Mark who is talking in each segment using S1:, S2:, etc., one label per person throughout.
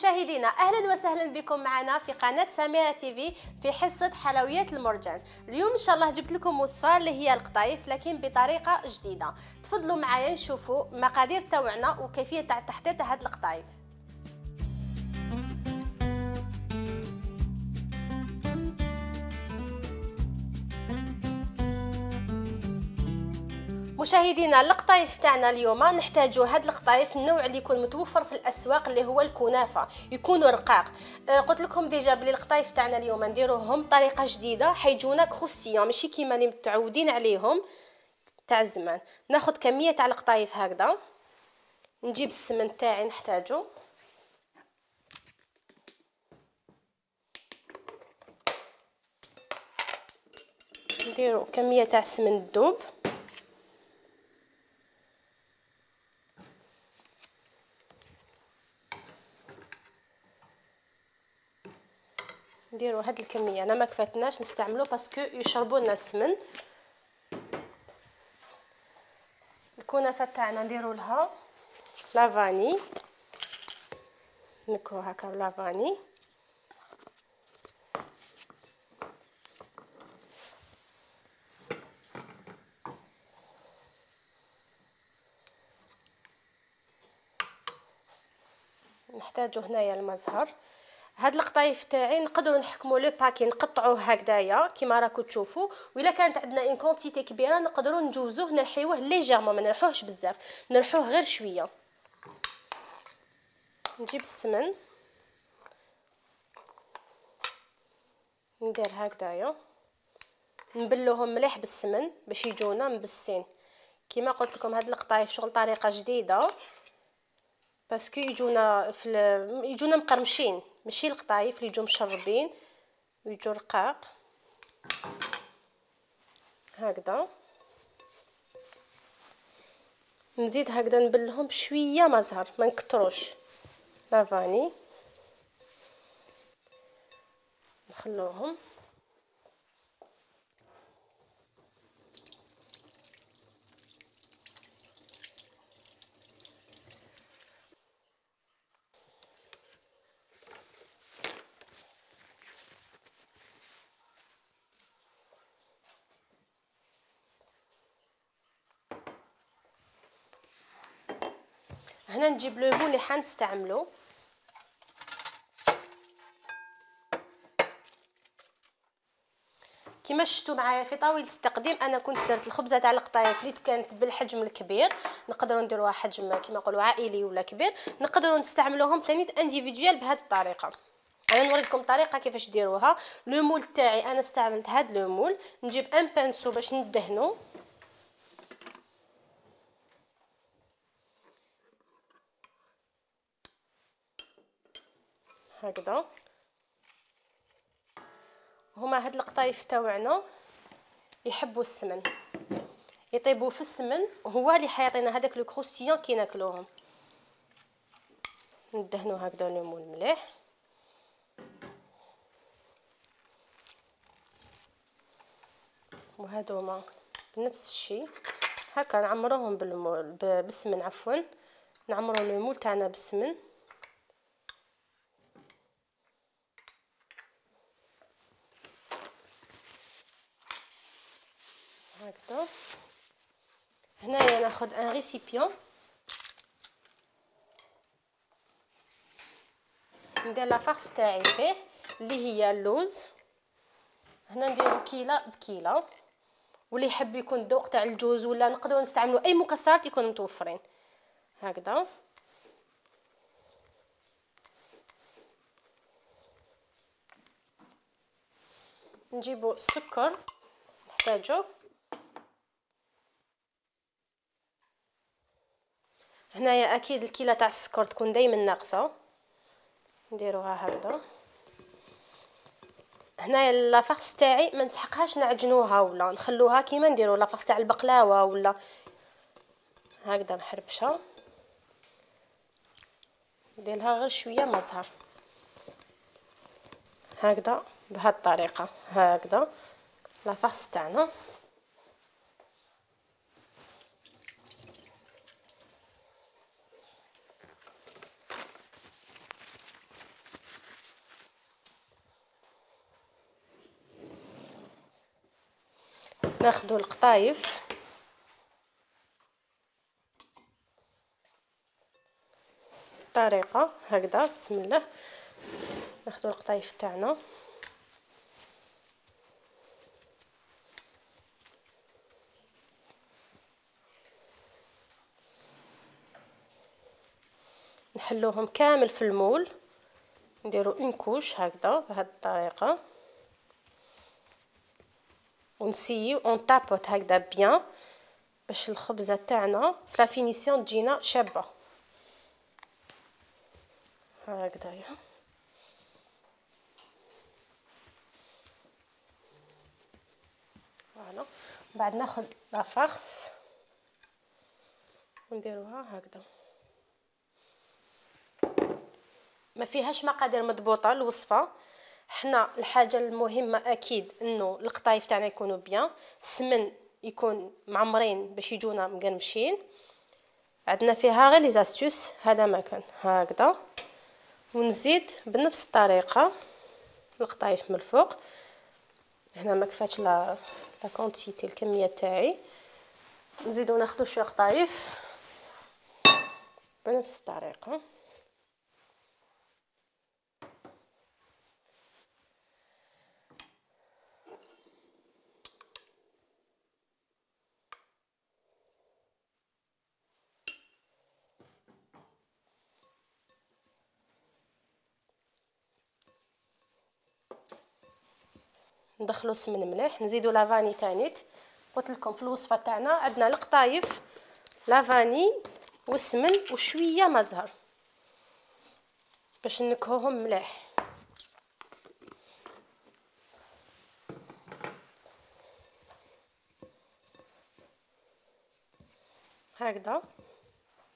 S1: مشاهدينا اهلا وسهلا بكم معنا في قناه سميرة تيفي في حصه حلويات المرجان. اليوم ان شاء الله جبت لكم وصفه اللي هي القطايف لكن بطريقه جديده. تفضلوا معايا نشوفوا مقادير تاعنا وكيفيه تاع التحضير تاع هاد القطايف. مشاهدينا القطايف تاعنا اليوم نحتاجو هاد القطايف النوع اللي يكون متوفر في الاسواق اللي هو الكنافه، يكونوا رقاق. قلت لكم ديجا بلي القطايف تاعنا اليوم نديروهم بطريقه جديده حيجونا كروستيون ماشي كيما اللي متعودين عليهم تاع زمان. ناخذ كميه تاع القطايف هكذا، نجيب السمن تاعي نحتاجو، نديرو كميه تاع السمن الذوب، نديروا هاد الكميه. انا ما كفاتناش نستعملو باسكو يشربوا لنا السمن. الكنافه تاعنا نديروا لها لافاني، نكو هكا لافاني، نحتاجو هنايا المزهر. هاد القطايف تاعي نقدروا نحكموا لو باكي نقطعوه هكذايا كيما راكم تشوفوا، والا كانت عندنا اون كونتيتي كبيره نقدروا نجوزوه نرحيوه ليجيرمون، ما نرحوهش بزاف، نرحوه غير شويه. نجيب السمن ندير هكذايا، نبلوهم مليح بالسمن باش يجونا مبسين. كيما قلت لكم هاد القطايف شغل طريقه جديده باسكو يجونا مقرمشين، ماشي القطايف اللي يجوا مشربين ويجوا رقاق هكذا. نزيد هكذا نبلهم بشويه مزهر، ما نكتروش لافاني، نخلوهم. هنا نجيب ليمون اللي حنستعملو، كيما شفتوا معايا في طاوله التقديم انا كنت درت الخبزه تاع القطايف اللي كانت بالحجم الكبير، نقدروا نديروها حجم كيما نقولوا عائلي ولا كبير، نقدروا نستعملوهم ثاني انديفيدوال بهذه الطريقه. انا نوريكم طريقه كيفاش ديروها. لو مول تاعي انا استعملت هذا لو مول، نجيب ان بانسو باش ندهنو هكذا. هما هاد القطايف تاوعنا يحبوا السمن، يطيبوا في السمن، هو اللي حيعطينا هذاك لو كروستيون كي ناكلوهم. ندهنوا هكذا ليمون مليح، وهذوما بنفس الشيء هكا نعمروهم بالسمن، عفوا نعمروا المول تاعنا بالسمن هكذا. هنايا ناخذ ان ريسيبيون، ندير لا فارس تاعي فيه اللي هي اللوز. هنا نديرو كيله بكيله، واللي يحب يكون الذوق تاع الجوز ولا نقدروا نستعملوا اي مكسرات يكونوا متوفرين هكذا. نجيبوا السكر نحتاجو، هنايا اكيد الكيله تاع السكر تكون دائما ناقصه، نديروها هكذا. هنايا لافارس تاعي ما نسحقهاش نعجنوها ولا نخلوها كيما نديروا لافارس تاع البقلاوه ولا هكذا محربشه، ندير لها غير شويه مزهر هكذا بهذه الطريقه هكذا لافارس تاعنا. ناخذ القطايف طريقه هكذا. بسم الله. ناخذ القطايف تاعنا نحلوهم كامل في المول، نديرو اون كوش هكذا بهذه الطريقه، ونسيو اون تابوت هكذا بيان باش الخبزه تاعنا في لا فينيسيون تجينا شابه هكذايا. فوالا. بعد ناخذ لا فارس ونديروها هكذا. ما فيهاش مقادير مضبوطه الوصفه، حنا الحاجه المهمه اكيد انه القطايف تاعنا يكونوا بيان، السمن يكون معمرين باش يجونا مقرمشين. عندنا فيها غير لي زاستوس هذا ما كان هكذا. ونزيد بنفس الطريقه القطايف من الفوق. هنا ما كفاتش لا كونتيتي الكميه تاعي، نزيدو ناخذ شويه قطايف بنفس الطريقه. ندخلو سمن مليح، نزيدو لافاني تانيت. قلت لكم في الوصفه تاعنا عندنا القطايف لافاني والسمن وشويه ما زهر باش نكهوهم مليح. هكذا.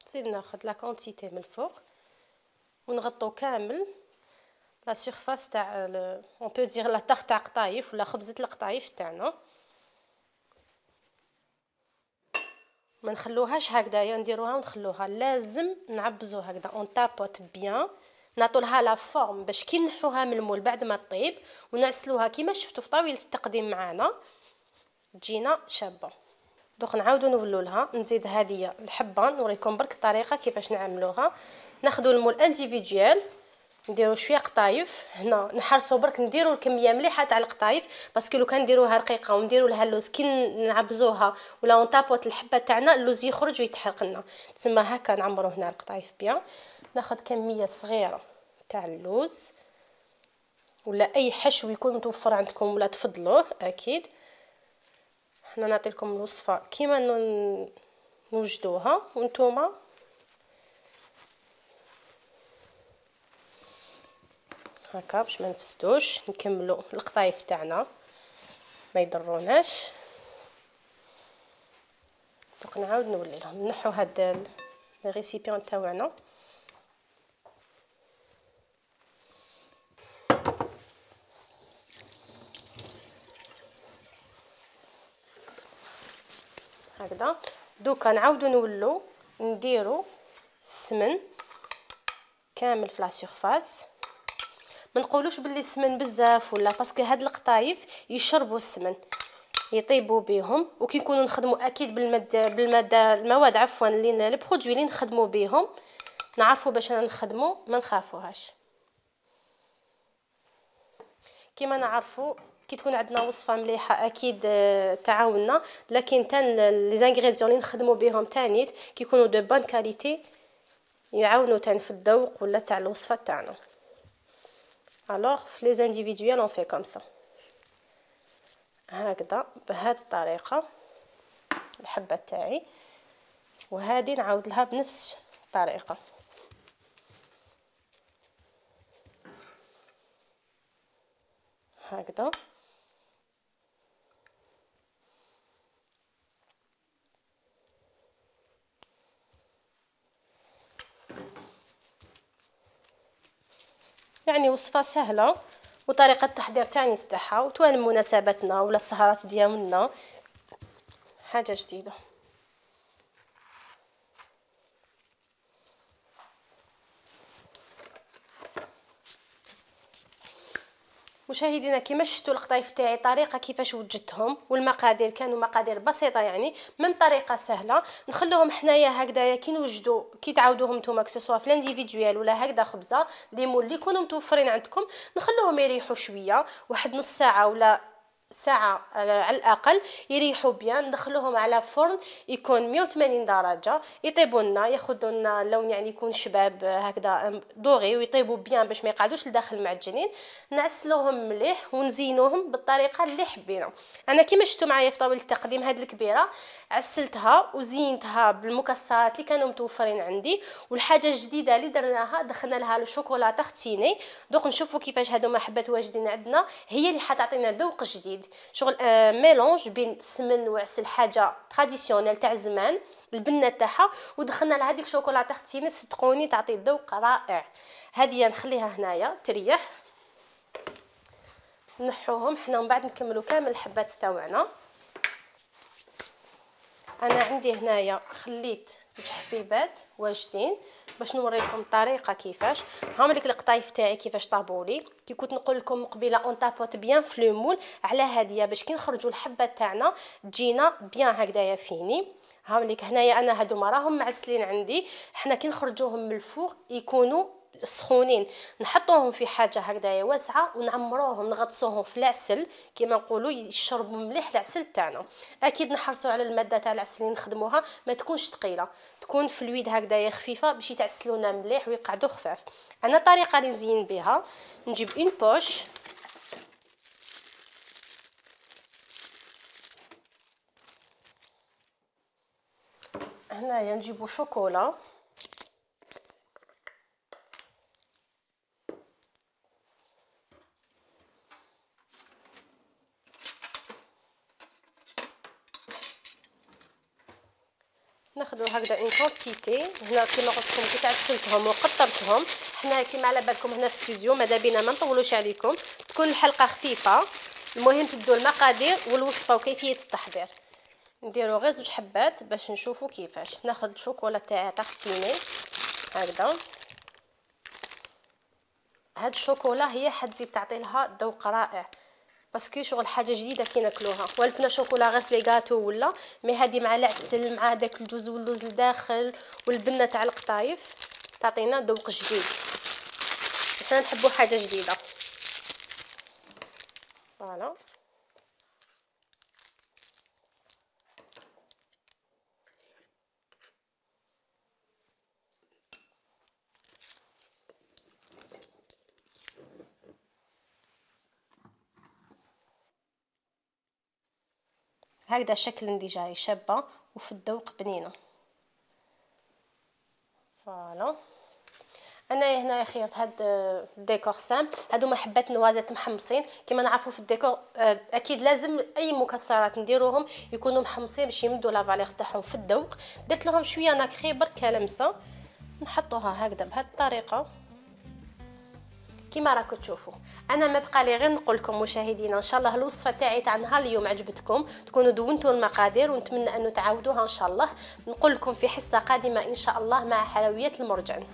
S1: نزيد ناخذ لا كونتيتي من الفوق ونغطو كامل لا سيرفاس تاع اون بو دير لا طاغ تاع قطايف ولا خبزه القطايف تاعنا. ما نخلوهاش هكذايا نديروها ونخلوها، لازم نعبزو هكذا اون تابوت بيان، نعطولها لا فورم باش كي نحوها من المول بعد ما طيب ونعسلوها كيما شفتوا في طاوله التقديم معنا تجينا شابه. دوك نعاودو نولو لها. نزيد هذه الحبه نوريكم برك الطريقه كيفاش نعملوها. ناخذوا المول انديفيديوال نديرو شويه قطايف، هنا نحرصوا برك نديرو الكميه مليحه تاع القطايف باسكو لو كان نديروها رقيقه ونديرو لها اللوز كي نعبزوها ولا اون طابوت الحبه تاعنا اللوز يخرج ويتحرق لنا. تسمى هكا نعمرو هنا القطايف بيان. ناخذ كميه صغيره تاع اللوز ولا اي حشو يكون متوفر عندكم ولا تفضلوه اكيد. حنا نعطيكم الوصفه كيما نوجدوها وانتوما هكا باش ما نفسدوش. نكملوا القطايف تاعنا ما يضروناش. دوك نعاود نولي لهم. نحو هاد الريسيبيون تاعنا هكذا. دوكا نعاودو نولو نديرو السمن كامل في لا سيرفاس. ما نقولوش باللي السمن بزاف ولا باسكو هاد القطايف يشربوا السمن يطيبوا بهم، وكي نكونوا نخدموا اكيد المواد عفوا اللي البرودوي اللي نخدموا بهم نعرفوا باش نخدموا ما نخافوهاش. كيما نعرفوا كي تكون عندنا وصفه مليحه اكيد تعاوننا، لكن تان لي زانغريديون اللي نخدموا بهم تانيت كي يكونوا دو بون كاليتي يعاونوا تان في الذوق ولا تاع الوصفه تاعنا. alors في لي انديفيدوال اون في كوم سا هكذا بهذه الطريقه الحبه تاعي، وهذه نعاود لها بنفس الطريقه هكذا. يعني وصفه سهله وطريقه التحضير تاعي تاعها وتوالم مناسباتنا ولا السهرات ديالنا حاجه جديده. مشاهدينا كيما شفتوا القطايف تاعي طريقه كيفاش وجدتهم، والمقادير كانوا مقادير بسيطه يعني من طريقه سهله. نخلوهم حنايا هكذايا كي نوجدوا كي تعاودوهم نتوما كسوا في الانديفيدوال ولا هكذا خبزه ليمون اللي يكونوا متوفرين عندكم، نخلوهم يريحوا شويه واحد نص ساعه ولا ساعة على الأقل يريحوا بيان. ندخلوهم على فرن يكون 180 درجة يطيبوا لنا، ياخذوا لنا لون يعني يكون شباب هكذا دوغي ويطيبوا بيان باش ما يقعدوش لداخل معجنين. نعسلوهم مليح ونزينوهم بالطريقة اللي حبينا. أنا كيما شفتوا معايا في طاولة التقديم هاد الكبيرة عسلتها وزينتها بالمكسرات اللي كانوا متوفرين عندي. والحاجة الجديدة اللي درناها دخلنا لها الشوكولا تختيني. دوك نشوفوا كيفاش هادو حبات واجدين عندنا، هي اللي حتعطينا ذوق جديد، شغل ميلونج بين سمن وعسل، حاجه تراديسيونيل تاع زمان البنه تاعها، ودخلنا لها هذيك شوكولاته تختيني صدقوني تعطي ذوق رائع. هذه نخليها هنايا تريح، نحوهم حنا ومن بعد نكملوا كامل الحبات تاعنا. انا عندي هنايا خليت زوج حبيبات واجدين باش نوريكم الطريقه كيفاش. هاهم ليك القطايف تاعي كيفاش طابولي. كي كنت نقول لكم قبيله اون طابوت بيان في لو مول على هاديه باش كي نخرجوا الحبات تاعنا تجينا بيان هكذايا فيني. هاهم ليك هنايا انا هادو راهم معسلين عندي، حنا كي نخرجوهم من الفوق يكونوا سخونين، نحطوهم في حاجه هكذايا واسعه ونعمروهم نغطسوهم في العسل كيما نقولوا يشربوا مليح العسل تاعنا. اكيد نحرصوا على الماده تاع العسل اللي نخدموها ما تكونش ثقيله، تكون فلويد هكذايا خفيفه باش يتعسلونا مليح ويقعدوا خفاف. انا الطريقه اللي نزين بها نجيب اون بوش هنايا، نجيبو شوكولا ناخذوا هكذا اون كونتيتي. هنا كيما قلت لكم كي تعسلتهم وقطرتهم، حنا كيما على بالكم هنا في الاستوديو ماذا بينا ما نطولوش عليكم، تكون الحلقه خفيفه. المهم تدوا المقادير والوصفه وكيفيه التحضير. نديروا غير زوج حبات باش نشوفوا كيفاش. ناخذ شوكولا تاعي تختيني هكذا. هاد الشوكولا هي حتزيد تعطي لها ذوق رائع باسكو شغل حاجه جديده كي ناكلوها. والفنا شوكولا غير في لي غاتو ولا مي هذه مع العسل مع داك الجوز واللوز لداخل والبنه تاع القطايف تعطينا ذوق جديد. حنا نحبوا حاجه جديده. فوالا هكذا الشكل ندي جاي شابه وفي الذوق بنينه. فوالا انا هنا خيرت هاد الديكور سامبل. هادو حبات نوازات محمصين كما نعرفوا في الديكور اكيد لازم اي مكسرات نديروهم يكونوا محمصين باش يمدوا لا فالير تاعهم في الذوق. درت لهم شويه نكري برك لمسه، نحطوها هكذا بهذه الطريقه كيما راكم تشوفوا. انا ما بقى لي غير نقول لكم مشاهدينا ان شاء الله الوصفه تاعي تاع نهار اليوم عجبتكم، تكونوا دونتوا المقادير ونتمنى انه تعاودوها ان شاء الله. نقول لكم في حصه قادمه ان شاء الله مع حلويات المرجان.